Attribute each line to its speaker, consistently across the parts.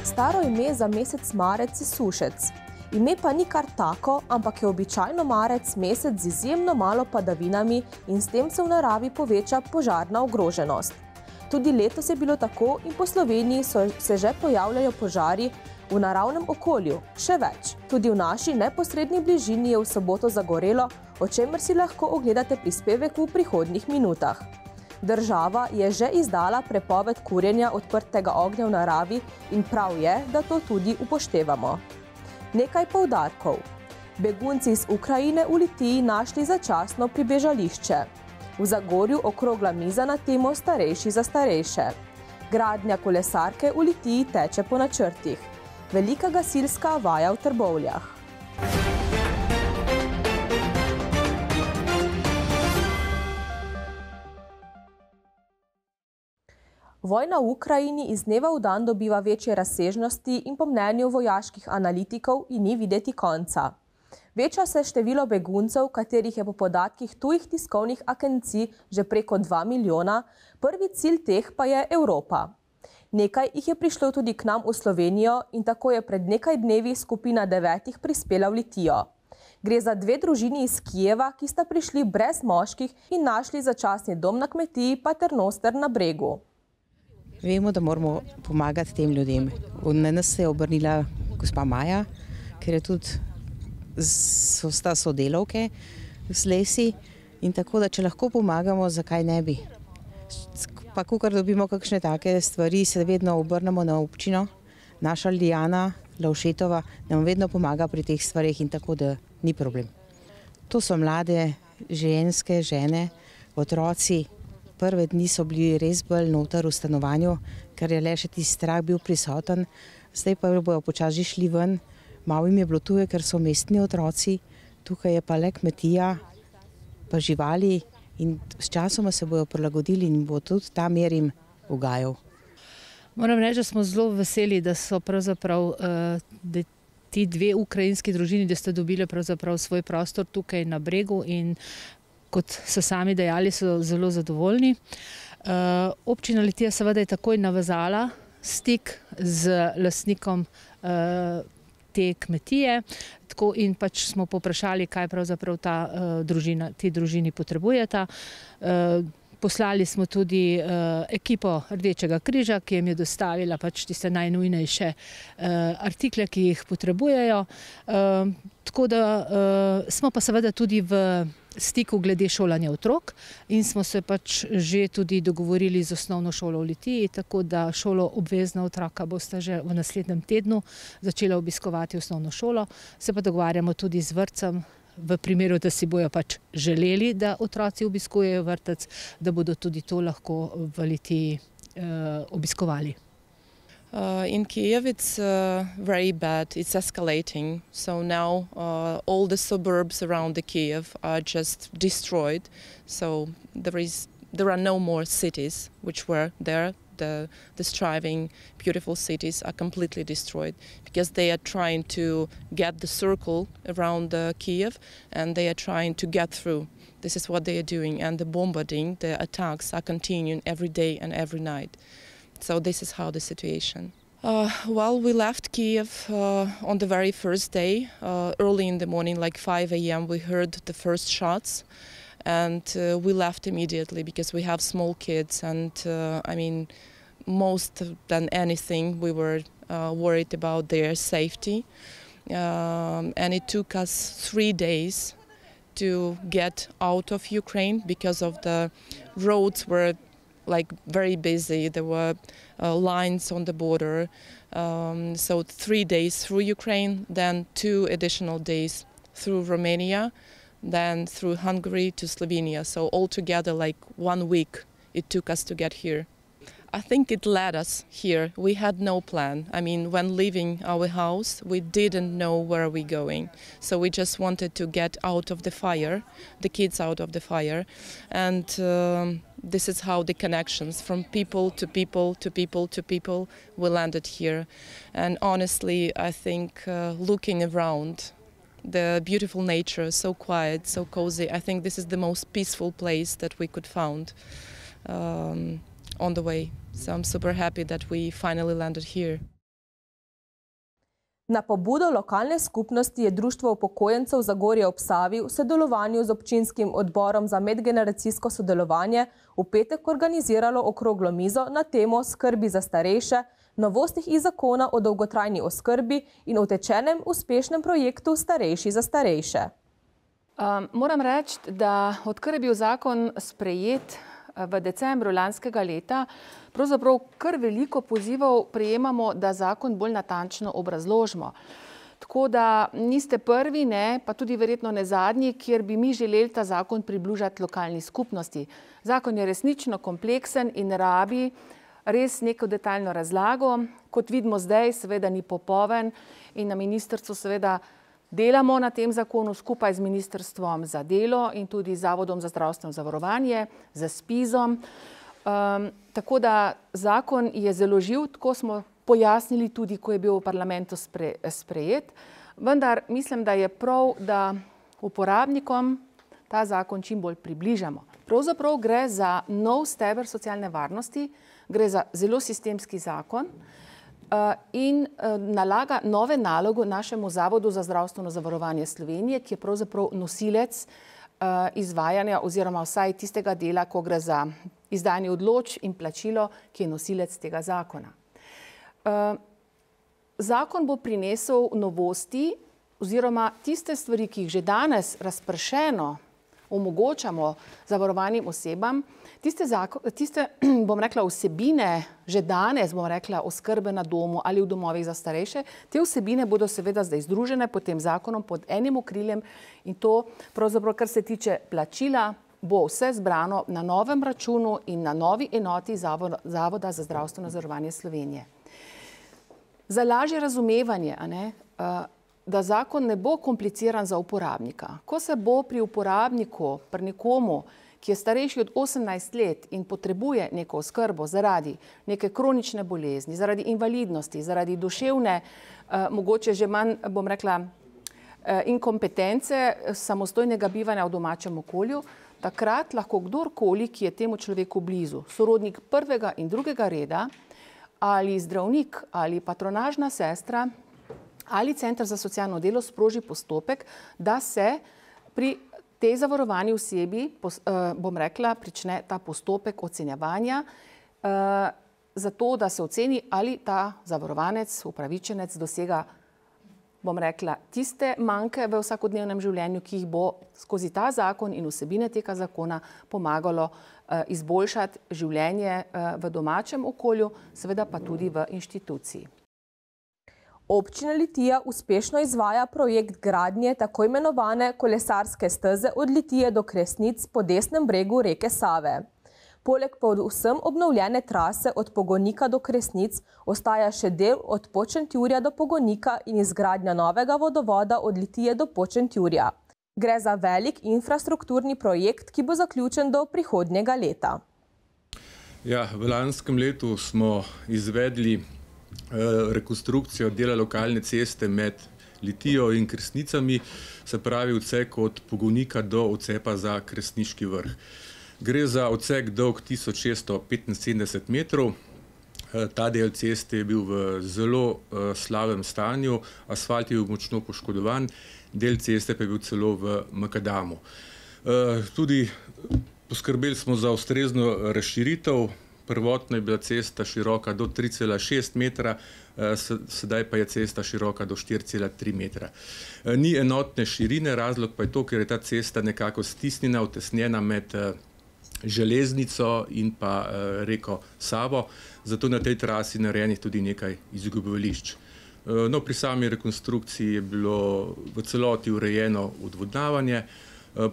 Speaker 1: Staro ime za mesec marec je sušec. Ime pa ni kar tako, ampak je običajno marec mesec z izjemno malo padavinami in s tem se v naravi poveča požarna ogroženost. Tudi letos je bilo tako in po Sloveniji se že pojavljajo požari v naravnem okolju. Še več, tudi v naši neposredni bližini je v soboto zagorelo, o čemer si lahko ogledate prispevek v prihodnjih minutah. Država je že izdala prepoved kurjenja odprtega ognja v naravi in prav je, da to tudi upoštevamo. Nekaj poudarkov. Begunci iz Ukrajine v Litiji našli začasno pribežališče. V Zagorju okrogla miza na temo Starejši za starejše. Gradnja kolesarke v Litiji teče po načrtih. Velika gasilska vaja v Trbovljah. Vojna v Ukrajini iz dneva v dan dobiva večje razsežnosti in po mnenju vojaških analitikov ji ni videti konca. Veča se število beguncev, katerih je po podatkih tujih tiskovnih agencij že preko 2 milijona, prvi cilj teh pa je Evropa. Nekaj jih je prišlo tudi k nam v Slovenijo in tako je pred nekaj dnevi skupina 9 prispela v Litijo. Gre za 2 družini iz Kijeva, ki sta prišli brez moških in našli začasni dom na kmetiji Paternoster na Bregu.
Speaker 2: Vemo, da moramo pomagati tem ljudem. Na nas se je obrnila gospa Maja, ker je tudi sta sodelavke z Lesi in tako, da če lahko pomagamo, zakaj ne bi. Pa kakor dobimo kakšne take stvari, se vedno obrnemo na občino. Naša Lijana Lavšetova nam vedno pomaga pri teh stvarih in tako, da ni problem. To so mlade ženske, žene, otroci. Prve dni so bili res bolj noter v stanovanju, ker je le še tisti strah bil prisoten. Zdaj pa bojo počasi šli ven. Malo jim je bilo tuje, ker so mestni otroci. Tukaj je pa le kmetija, pa živali in s časoma se bojo prilagodili in bo tudi ta mer jim ugajal.
Speaker 3: Moram reči, da smo zelo veseli, da so pravzaprav ti 2 ukrajinski družini, da ste dobili pravzaprav svoj prostor tukaj na Bregu in kot so sami dejali, so zelo zadovoljni. Občina Litija seveda je takoj navezala stik z lastnikom te kmetije in pač smo poprašali, kaj pravzaprav ti družini potrebujeta. Poslali smo tudi ekipo Rdečega križa, ki jim je dostavila pač tiste najnujnejše artikle, ki jih potrebujejo. Tako da smo pa seveda tudi v stiku glede šolanja otrok in smo se pač že tudi dogovorili z osnovno šolo v Litiji, tako da šolo obvezna otroka bosta že v naslednjem tednu začela obiskovati osnovno šolo. Se pa dogovarjamo tudi z vrtcem, v primeru, da si bojo pač želeli, da otroci obiskujejo vrtec, da bodo tudi to lahko v Litiji obiskovali.
Speaker 4: In Kiev it's very bad, it's escalating, so now all the suburbs around the Kiev are just destroyed, so there are no more cities which were there. The thriving, beautiful cities are completely destroyed because they are trying to get the circle around Kiev and they are trying to get through. This is what they are doing, and the bombarding, the attacks are continuing every day and every night. So this is how the situation. Well, we left Kiev on the very first day. Early in the morning, like 5 a.m., we heard the first shots. And we left immediately because we have small kids and I mean, most than anything we were worried about their safety. And it took us 3 days to get out of Ukraine because of the roads were like very busy. There were lines on the border. So 3 days through Ukraine, then 2 additional days through Romania, then through Hungary to Slovenia. So altogether like 1 week it took us to get here. I think it led us here. We had no plan. I mean, when leaving our house, we didn't know where we're going. So we just wanted to get out of the fire, the kids out of the fire. And this is how the connections from people to people to people to people, we landed here. And honestly, I think looking around, the beautiful nature, so quiet, so cozy, I think this is the most peaceful place that we could find on the way. So I'm super happy that we finally landed here.
Speaker 1: Na pobudo lokalne skupnosti je Društvo upokojencev Zagorje ob Savi v sodelovanju z občinskim odborom za medgeneracijsko sodelovanje v petek organiziralo okroglo mizo na temo skrbi za starejše, novostih iz zakona o dolgotrajni oskrbi in utečenem uspešnem projektu Starejši za starejše.
Speaker 5: Moram reči, da odkar je bil zakon sprejet v decembru lanskega leta, pravzaprav kar veliko pozivov prejemamo, da zakon bolj natančno obrazložimo. Tako da niste prvi, ne, pa tudi verjetno ne zadnji, kjer bi mi želeli ta zakon približati lokalni skupnosti. Zakon je resnično kompleksen in rabi res neko detaljno razlago. Kot vidimo zdaj, seveda ni popoln in na ministrstvu seveda delamo na tem zakonu skupaj z Ministrstvom za delo in tudi Zavodom za zdravstveno zavarovanje, z ZPIZ-om. Tako da zakon je zelo živ, tako smo pojasnili tudi, ko je bil v parlamentu sprejet. Vendar mislim, da je prav, da uporabnikom ta zakon čim bolj približamo. Pravzaprav gre za nov steber socialne varnosti, gre za zelo sistemski zakon, in nalaga nove naloge našemu Zavodu za zdravstveno zavarovanje Slovenije, ki je pravzaprav nosilec izvajanja oziroma vsaj tistega dela, ko gre za izdajanje odločb in plačilo, ki je nosilec tega zakona. Zakon bo prinesel novosti oziroma tiste stvari, ki jih že danes razpršeno omogočamo zavarovanim osebam, tiste, bom rekla, vsebine že danes, bom rekla, oskrbe na domu ali v domovih za starejše, te vsebine bodo seveda zdaj združene pod tem zakonom, pod enim okriljem in to pravzaprav, kar se tiče plačila, bo vse zbrano na novem računu in na novi enoti Zavoda za zdravstveno zavarovanje Slovenije. Za lažje razumevanje, da zakon ne bo kompliciran za uporabnika. Ko se bo pri uporabniku, pri nekomu, ki je starejši od 18 let in potrebuje neko oskrbo zaradi neke kronične bolezni, zaradi invalidnosti, zaradi duševne, mogoče že manj, bom rekla, inkompetence, samostojnega bivanja v domačem okolju, takrat lahko kdorkoli, ki je temu človeku blizu, sorodnik prvega in drugega reda, ali zdravnik, ali patronažna sestra, ali center za socialno delo sproži postopek, da se pri tej zavarovani osebi, bom rekla, prične ta postopek ocenjevanja, zato da se oceni, ali ta zavarovanec, upravičenec dosega, bom rekla, tiste manjke v vsakodnevnem življenju, ki jih bo skozi ta zakon in vsebine tega zakona pomagalo izboljšati življenje v domačem okolju, seveda pa tudi v inštituciji.
Speaker 1: Občina Litija uspešno izvaja projekt gradnje tako imenovane kolesarske steze od Litije do Kresnic po desnem bregu reke Save. Poleg povsem obnovljene trase od Pogonika do Kresnic ostaja še del od Počentjurja do Pogonika in izgradnja novega vodovoda od Litije do Počentjurja. Gre za velik infrastrukturni projekt, ki bo zaključen do prihodnjega leta.
Speaker 6: Ja, v lanskem letu smo izvedli rekonstrukcijo dela lokalne ceste med Litijo in Kresnicami, se pravi odsek od Pogonika do odcepa za Kresniški vrh. Gre za odsek dolg 1675 metrov. Ta del ceste je bil v zelo slabem stanju, asfalt je bil močno poškodovan, del ceste pa je bil celo v makadamu. Tudi poskrbeli smo za ustrezno razširitev. Prvotno je bila cesta široka do 3,6 metra, sedaj pa je cesta široka do 4,3 metra. Ni enotne širine, razlog pa je to, ker je ta cesta nekako stisnjena, utesnjena med železnico in pa reko Savo, zato na tej trasi narejenih tudi nekaj izgubovališč. No, pri sami rekonstrukciji je bilo v celoti urejeno odvodnjavanje,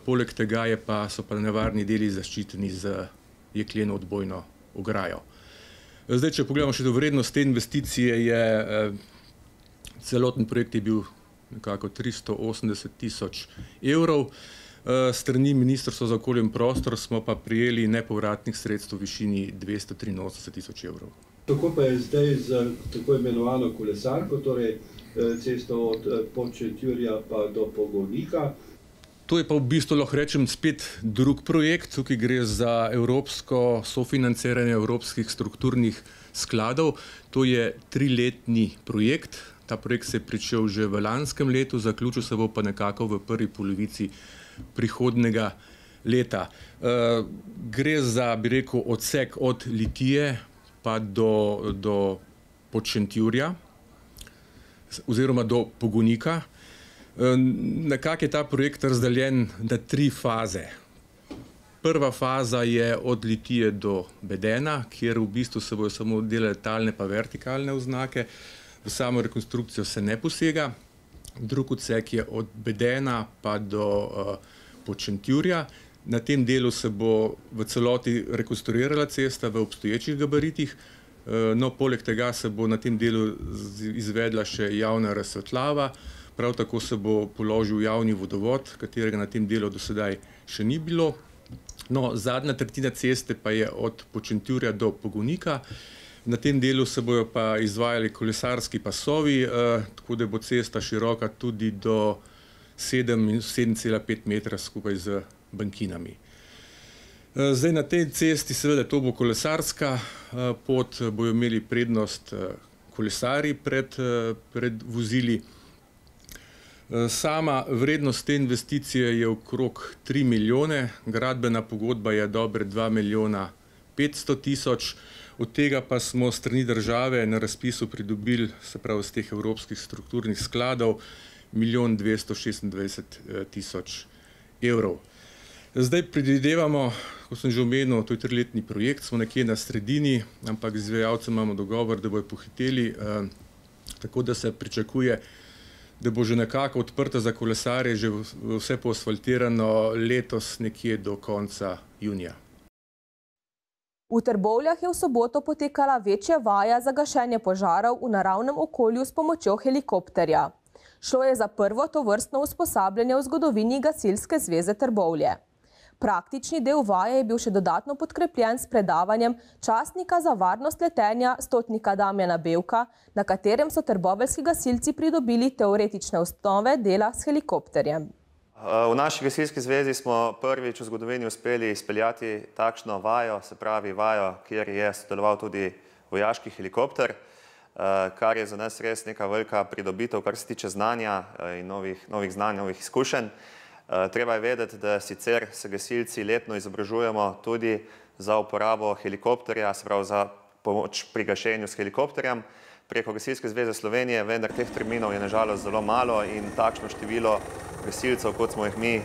Speaker 6: poleg tega so pa nevarni deli zaščiteni z jekleno odbojno ograjo. Zdaj, če pogledamo še do vrednost te investicije, celoten projekt je bil nekako 380 tisoč evrov. Strani Ministrstva za okolje in prostor smo pa prijeli nepovratnih sredstev v višini 283 tisoč evrov.
Speaker 7: Kako pa je zdaj z tako imenovano kolesarko, torej cesto od Počentjurja pa do Pogonika?
Speaker 6: To je pa v bistvu, lahko rečem, spet drug projekt. Tukaj gre za evropsko sofinanciranje evropskih strukturnih skladov. To je 3-letni projekt. Ta projekt se je pričel že v lanskem letu, zaključil se bo pa nekako v prvi polovici prihodnjega leta. Gre za, bi rekel, odsek od Litije pa do Podšentjurja oziroma do Pogonika. Nekako je ta projekt razdeljen na 3 faze. Prva faza je od Litije do Bedena, kjer v bistvu se bojo samo delale talne pa vertikalne oznake. V samo rekonstrukcijo se ne posega. Drug odsek je od Bedena pa do Podšentjurja. Na tem delu se bo v celoti rekonstruirala cesta v obstoječih gabaritih. No, poleg tega se bo na tem delu izvedla še javna razsvetljava. Prav tako se bo položil javni vodovod, katerega na tem delu do sedaj še ni bilo. No, zadnja tretjina ceste pa je od Podšentjurja do Pogonika. Na tem delu se bojo pa izvajali kolesarski pasovi, tako da bo cesta široka tudi do 7,5 metra skupaj z bankinami. Zdaj na tej cesti, seveda to bo kolesarska pot, bojo imeli prednost kolesarji pred vozili. Sama vrednost te investicije je okrog 3 milijone, gradbena pogodba je dobre 2 milijona 500 tisoč, od tega pa smo s strani države na razpisu pridobili, se pravi iz teh evropskih strukturnih skladov, 1 226 tisoč evrov. Zdaj predvidevamo, kot sem že omenil, to je 3-letni projekt, smo nekje na sredini, ampak z izvajalcem imamo dogovor, da bojo pohiteli, tako da se pričakuje, da bo že nekako odprta za kolesarje, že vse poasfaltirano letos nekje do konca junija.
Speaker 1: V Trbovljah je v soboto potekala večja vaja za gašenje požarov v naravnem okolju s pomočjo helikopterja. Šlo je za prvo tovrstno usposabljanje v zgodovini Gasilske zveze Trbovlje. Praktični del vaje je bil še dodatno podkrepljen s predavanjem častnika za varnost letenja stotnika Damjana Bevka, na katerem so trboveljski gasilci pridobili teoretične osnove dela s helikopterjem.
Speaker 8: V naši gasilski zvezi smo prvič v zgodovini uspeli izpeljati takšno vajo, se pravi vajo, kjer je sodeloval tudi vojaški helikopter, kar je za nas res neka velika pridobitev, kar se tiče znanja in novih znanj, novih izkušenj. Treba je vedeti, da sicer se gasilci letno izobražujemo tudi za uporabo helikopterja, se pravi za pomoč pri gašenju s helikopterjem preko Gasilske zveze Slovenije, vendar teh terminov je nažalost zelo malo in takšno število gasilcev, kot smo jih mi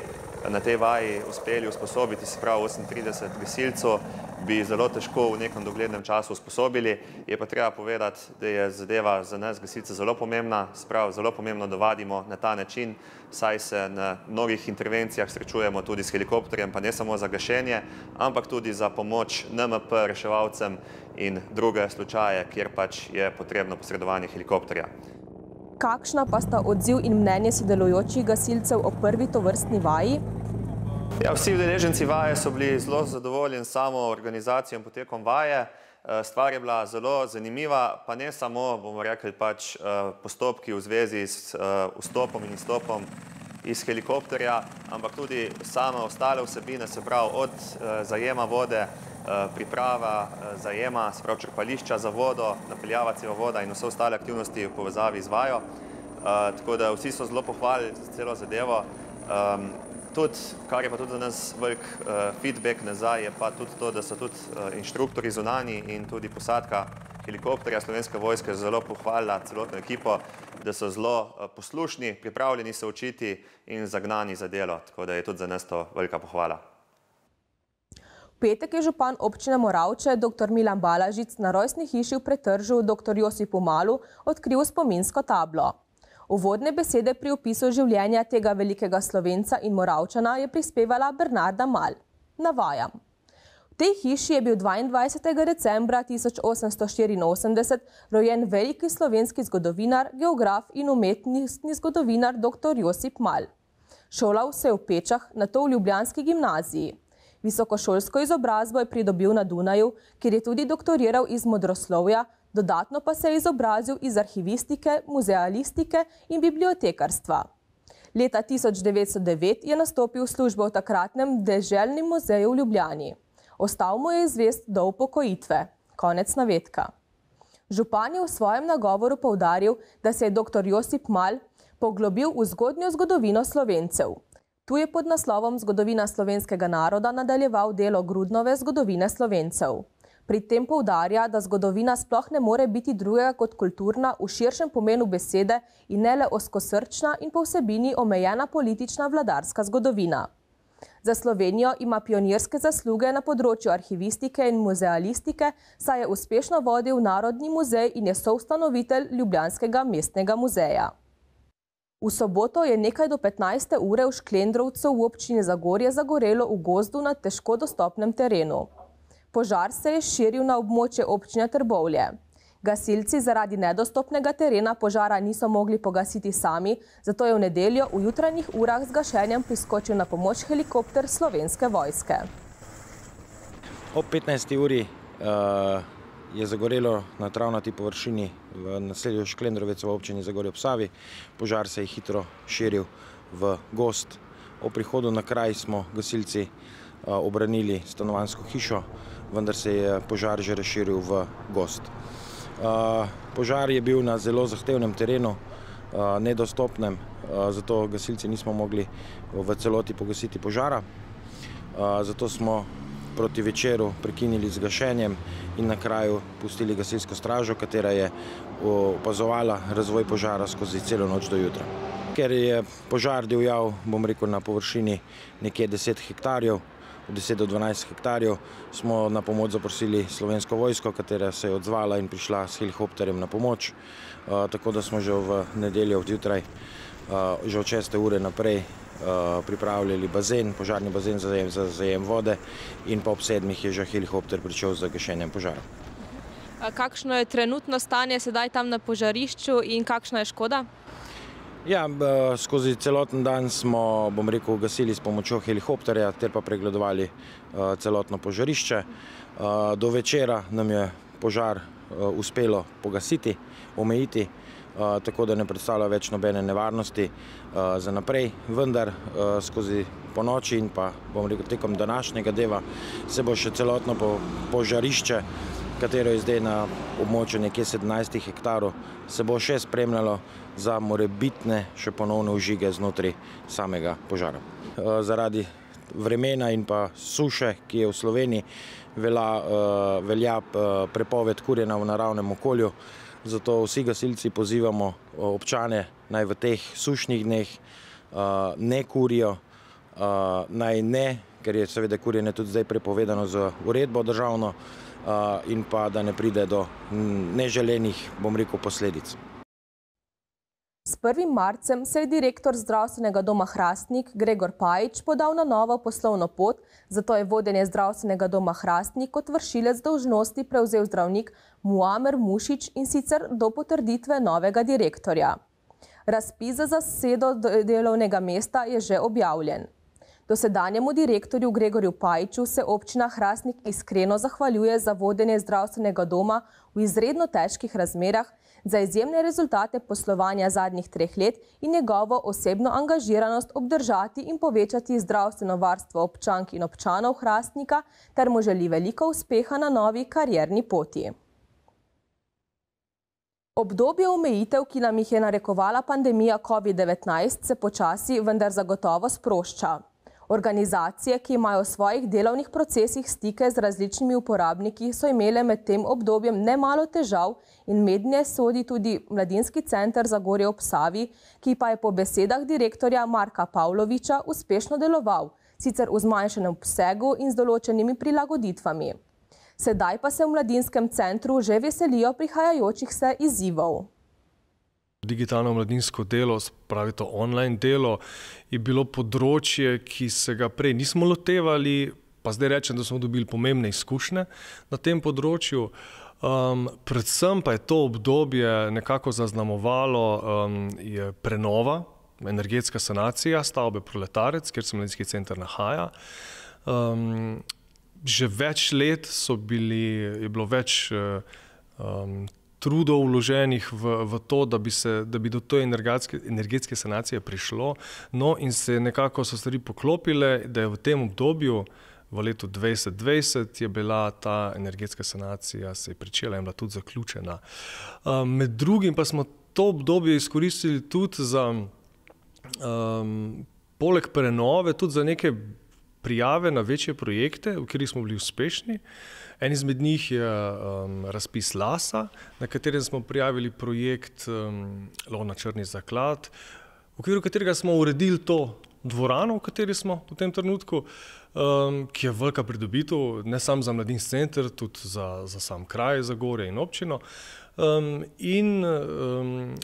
Speaker 8: na tej vaji uspeli usposobiti, se pravi 38 gasilcev, bi zelo težko v nekem doglednem času usposobili. Je pa treba povedati, da je zadeva za nas gasilce zelo pomembna, se pravi zelo pomembno, da vadimo na ta način, saj se na mnogih intervencijah srečujemo tudi s helikopterjem, pa ne samo za gašenje, ampak tudi za pomoč NMP, reševalcem in druge slučaje, kjer pač je potrebno posredovanje helikopterja.
Speaker 1: Kakšna pa sta odziv in mnenje sodelujočih gasilcev o prvi tovrstni vaji?
Speaker 8: Ja, vsi udeleženci vaje so bili zelo zadovoljni s samo organizacijo in potekom vaje. Stvar je bila zelo zanimiva, pa ne samo, bomo rekli, pač postopki v zvezi s vstopom in izstopom iz helikopterja, ampak tudi same ostale vsebine, se pravi od zajema vode, priprava zajema, se pravi črpališča za vodo, napeljava cevovoda in vse ostale aktivnosti v povezavi z vajo. Tako da vsi so zelo pohvalili celo zadevo. Tudi, kar je pa tudi za nas velik feedback nazaj, je pa tudi to, da so tudi inštruktori zunanji in tudi posadka helikopterja Slovenske vojske zelo pohvalila celotno ekipo, da so zelo poslušni, pripravljeni se učiti in zagnani za delo. Tako da je tudi za nas to velika pohvala.
Speaker 1: V petek je župan občine Moravče, dr. Milan Balažic, na rojstni hiši v Pretržu dr. Josipu Malu odkril spominsko tablo. Uvodne besede pri opisu življenja tega velikega Slovenca in Moravčana je prispevala Bernarda Mal. Navajam. V tej hiši je bil 22. decembra 1884 rojen veliki slovenski zgodovinar, geograf in umetnostni zgodovinar dr. Josip Mal. Šolal se je v Pečah, nato v ljubljanski gimnaziji. Visokošolsko izobrazbo je pridobil na Dunaju, kjer je tudi doktoriral iz modroslovja, dodatno pa se je izobrazil iz arhivistike, muzealistike in bibliotekarstva. Leta 1909 je nastopil službo v takratnem deželnem muzeju v Ljubljani. Ostal mu je zvest do upokojitve. Konec navedka. Župan je v svojem nagovoru poudaril, da se je dr. Josip Mal poglobil v zgodnjo zgodovino Slovencev. Tu je pod naslovom Zgodovina slovenskega naroda nadaljeval delo Grudnove zgodovine Slovencev. Pri tem poudarja, da zgodovina sploh ne more biti drugega kot kulturna v širšem pomenu besede in ne le ozkosrčna in po vsebini omejena politična vladarska zgodovina. Za Slovenijo ima pionirske zasluge na področju arhivistike in muzealistike, saj je uspešno vodil Narodni muzej in je soustanovitelj Ljubljanskega mestnega muzeja. V soboto je nekaj do 15. ure v Šklendrovcu v občini Zagorje zagorelo v gozdu na težko dostopnem terenu. Požar se je širil na območje občine Trbovlje. Gasilci zaradi nedostopnega terena požara niso mogli pogasiti sami, zato je v nedeljo v jutranjih urah z gašenjem priskočil na pomoč helikopter Slovenske vojske.
Speaker 9: Ob 15. uri je zagorelo na travnati površini v naselju Šklendrovec v občini Zagorje ob Savi. Požar se je hitro širil v gozd. Ob prihodu na kraj smo gasilci obranili stanovanjsko hišo, vendar se je požar že razširil v gozd. Požar je bil na zelo zahtevnem terenu, nedostopnem, zato gasilci nismo mogli v celoti pogasiti požara. Zato smo proti večeru prekinili z gašenjem in na kraju pustili gasilsko stražo, katera je opazovala razvoj požara skozi celo noč do jutra. Ker je požar divjal, bom rekel, na površini nekje 10 hektarjev, 10 do 12 hektarjev, smo na pomoč zaprosili Slovensko vojsko, katera se je odzvala in prišla s helikopterjem na pomoč. Tako da smo že v nedeljo odjutraj, že od 6. ure naprej, pripravljali bazen, požarni bazen za zajem vode in pa ob 7. je že helikopter pričel z gašenjem požara.
Speaker 1: Kakšno je trenutno stanje sedaj tam na požarišču in kakšna je škoda?
Speaker 9: Ja, skozi celoten dan smo, bom rekel, gasili s pomočjo helikopterja ter pa pregledovali celotno požarišče. Do večera nam je požar uspelo pogasiti, omejiti, tako da ne predstavlja več nobene nevarnosti za naprej. Vendar skozi ponoči in pa, bom rekel, tekom današnjega dneva se bo še celotno požarišče, katero je zdaj na območju nekje 17 hektarov, se bo še spremljalo za morebitne še ponovne vžige znotraj samega požara. Zaradi vremena in pa suše, ki je v Sloveniji, velja prepoved kurjenja v naravnem okolju, zato vsi gasilci pozivamo občane, naj v teh sušnih dneh ne kurijo, naj ne, ker je seveda kurjenje tudi zdaj prepovedano z uredbo državno, in pa da ne pride do neželenih, bom rekel, posledic.
Speaker 1: S 1. marcem se je direktor Zdravstvenega doma Hrastnik Gregor Pajič podal na novo poslovno pot, zato je vodenje Zdravstvenega doma Hrastnik kot vršilec dolžnosti prevzel zdravnik Muamer Mušič in sicer do potrditve novega direktorja. Razpis za zasedo delovnega mesta je že objavljen. Dosedanjemu direktorju Gregorju Pajiču se občina Hrastnik iskreno zahvaljuje za vodenje zdravstvenega doma v izredno težkih razmerah, za izjemne rezultate poslovanja zadnjih 3 let in njegovo osebno angažiranost obdržati in povečati zdravstveno varstvo občank in občanov Hrastnika ter mu želi veliko uspeha na novi karierni poti. Obdobje omejitev, ki nam jih je narekovala pandemija COVID-19, se počasi, vendar zagotovo sprošča. Organizacije, ki imajo v svojih delovnih procesih stike z različnimi uporabniki, so imele med tem obdobjem nemalo težav in mednje sodi tudi Mladinski center Zagorje ob Savi, ki pa je po besedah direktorja Marka Pavloviča uspešno deloval, sicer v zmanjšanem obsegu in z določenimi prilagoditvami. Sedaj pa se v Mladinskem centru že veselijo prihajajočih se izzivov.
Speaker 10: Digitalno mladinsko delo, pravi to online delo, je bilo področje, ki se ga prej nismo lotevali, pa zdaj rečem, da smo dobili pomembne izkušnje na tem področju. Predvsem pa je to obdobje nekako zaznamovalo je prenova, energetska sanacija stavbe Proletarec, kjer se Mladinski center nahaja. Že več let je bilo več trudov vloženih v to, da bi do te energetske sanacije prišlo. No in se nekako so stvari poklopile, da je v tem obdobju v letu 2020 je bila ta energetska sanacija, se je pričela in bila tudi zaključena. Med drugim pa smo to obdobje izkoristili tudi za, poleg prenove, tudi za neke prijave na večje projekte, v katerih smo bili uspešni. En izmed njih je razpis LASA, na katerem smo prijavili projekt Lov na črni zaklad, v okviru katerega smo uredili to dvorano, v kateri smo v tem trenutku, ki je velika pridobitev, ne samo za mladinski center, tudi za sam kraj, za Zagorje in občino. In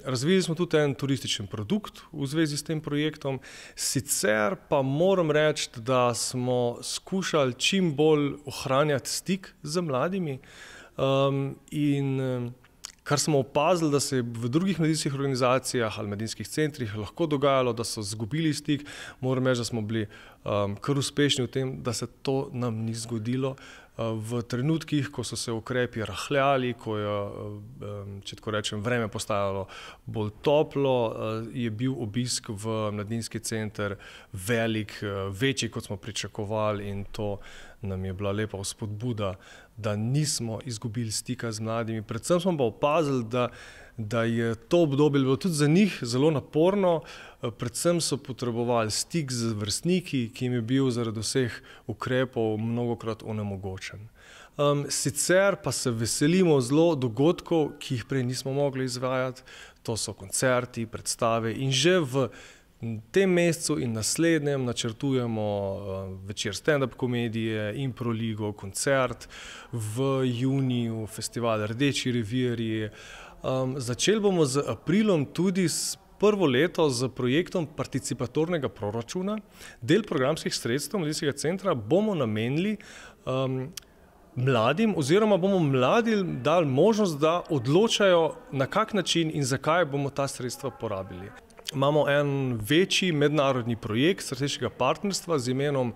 Speaker 10: razvili smo tudi en turističen produkt v zvezi s tem projektom. Sicer pa moram reči, da smo skušali čim bolj ohranjati stik z mladimi in kar smo opazili, da se je v drugih mladinskih organizacijah ali mladinskih centrih lahko dogajalo, da so izgubili stik, moram reči, da smo bili kar uspešni v tem, da se to nam ni zgodilo. V trenutkih, ko so se ukrepi rahljali, ko je, če tako rečem, vreme postajalo bolj toplo, je bil obisk v mladinski center velik, večji, kot smo pričakovali, in to nam je bila lepa vzpodbuda, da nismo izgubili stika z mladimi. Predvsem smo pa opazili, da je to obdobje bilo tudi za njih zelo naporno, predvsem so potrebovali stik z vrstniki, ki jim je bil zaradi vseh ukrepov mnogokrat onemogočen. Sicer pa se veselimo zelo dogodkov, ki jih prej nismo mogli izvajati, to so koncerti, predstave in že v tem mesecu in naslednjem načrtujemo večer stand-up komedije, improligo, koncert, v juniju festival Rdeči revirji. Začeli bomo z aprilom tudi s prvo leto z projektom participatornega proračuna. Del programskih sredstev mladinskega centra bomo namenili mladim oziroma bomo mladim dali možnost, da odločajo, na kak način in zakaj bomo ta sredstva porabili. Imamo en večji mednarodni projekt strateškega partnerstva z imenom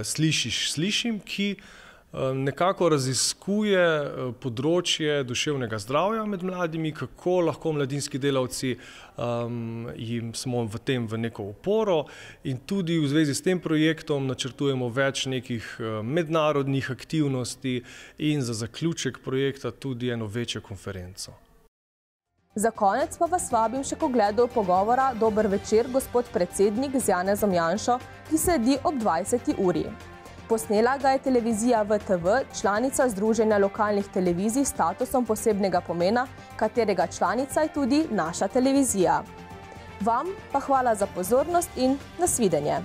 Speaker 10: Slišiš, slišim, ki nekako raziskuje področje duševnega zdravja med mladimi, kako lahko mladinski delavci jim smo v tem v neko oporo, in tudi v zvezi s tem projektom načrtujemo več nekih mednarodnih aktivnosti in za zaključek projekta tudi eno večjo konferenco.
Speaker 1: Za konec pa vas vabim še k ogledu pogovora Dober večer, gospod predsednik z Janezom Janšo, ki sledi ob 20. uri. Posnela ga je televizija VTV, članica Združenja lokalnih televizij s statusom posebnega pomena, katerega članica je tudi naša televizija. Vam pa hvala za pozornost in nasvidenje.